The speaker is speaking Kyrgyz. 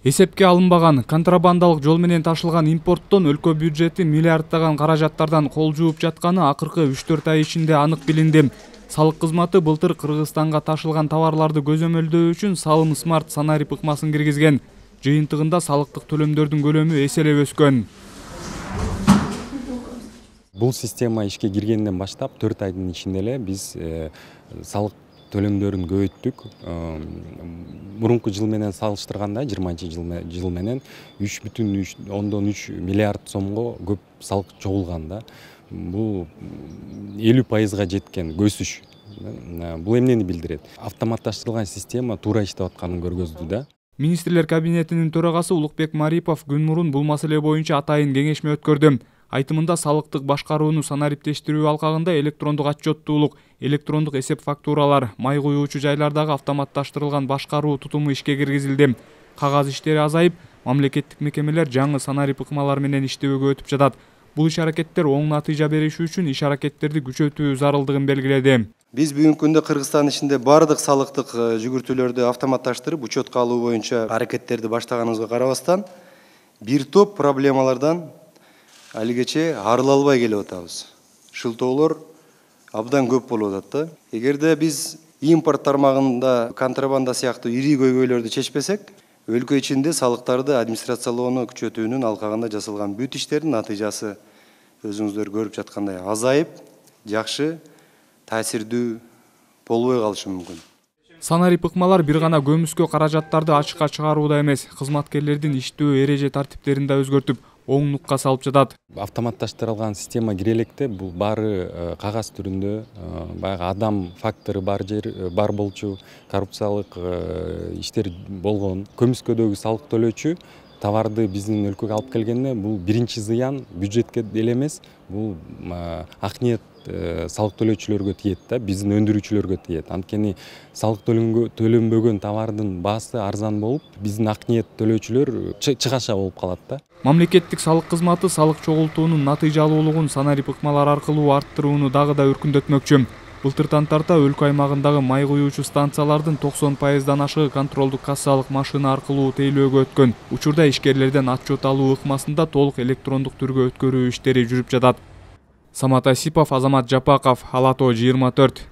Эсепке алынбаган контрабандалык жол менен ташылган импорттон өлкө бюджети миллиарддаган каражаттардан кол жууп жатканы акыркы 3-4 ай ичинде анык билинди. Салык кызматы былтыр Кыргызстанга ташылган товарларды көзөмөлдөө үчүн Салым Смарт санарип ыкмасын киргизген. Жыйынтыгында салыктык төлөмдөрдүн көлөмү эселеп өскөн. Бул система ишке киргенден баштап 4 айдын ичинде эле биз салык төлөмдөрүн көбөйттүк. Мурунку жыл менен салыштырганда 20-жыл менен 3,3 миллиард сомго көп салык чогулган да. Бул 50%га жеткен өсүш. Бул эмнени билдирет? Автоматташтырылган система туура иштеп атканын көргөздү да. Министрлер кабинетинин төрагасы Улукбек Марипов күн мурун бул маселе боюнча атайын кеңешме өткөрдү. Айтымында салыктык башкарууну санариптештирүү алкагында электрондук отчеттуулук, электрондук эсеп фактуралар, май куюучу жайлардагы автоматташтырылган башкаруу тутуму ишке киргизилди. Кагаз иштери азайып, мамлекеттик мекемелер жаңы санарип ыкмалар менен иштөөгө өтүп жатат. Бул иш-аракеттер оң натыйжа бериши үчүн иш-аракеттерди күчөтүү зарылдыгын белгиледи. Биз бүгүнкү күндө Кыргызстан ичинде бардык салыктык жүгүртүүлөрдү автоматташтырып, учетко алуу боюнча аракеттерди баштаганыбызга карабастан, бир топ проблемалардан алигече арыла албай келип атабыз. Шылтоолор абдан көп болуп атат да. Эгерде биз импорт тармагында контрабанда сыяктуу ири көйгөйлөрдү чечпесек, өлкө ичинде салыктарды администрациялоону күчөтүүнүн алкагында жасалган бүт иштердин натыйжасы өзүңүздөр көрүп жаткандай азайып, жакшы, таасирдүү болбой калышы мүмкүн. Санарип ыкмалар бир гана көмүскө каражаттарды ачыкка чыгарууда эмес, кызматкерлердин иштөө эреже тартиптерин да өзгөртүп, оңдукка салып жатат. Автоматташтырылган система кире электе бул баары кагаз түрүндө, баягы адам фактору бар болчу, коррупциялык иштер болгон. Көмүскөдөгү салык төлөөчү товарды биздин өлкөгө алып келгенде бул биринчи зыян бюджетке деле эмес, бул ак ниет салык төлөөчүлөргө тиет да, биздин өндүрүүчүлөргө тиет. Анткени салык төлөнбөгөн товардын баасы арзан болуп, биздин ак ниет төлөөчүлөр чыгаша болуп калат да. Мамлекеттик салык кызматы салык чогултуунун натыйжалуулугун санарип ыкмалар аркылуу арттырууну дагы да өркүндөтмөкчү. Былтыртан тарта өлкө аймагындагы май куюучу станциялардын 90%дан ашыгы контролдук кассалык машина аркылуу тейлөөгө өткөн. Учурда ишкерлерден отчет алуу ыкмасында толук электрондук түргө өткөрүү иштери жүрүп жатат. Самат Асипов, Азамат Жапаков, Ала Тоо 24.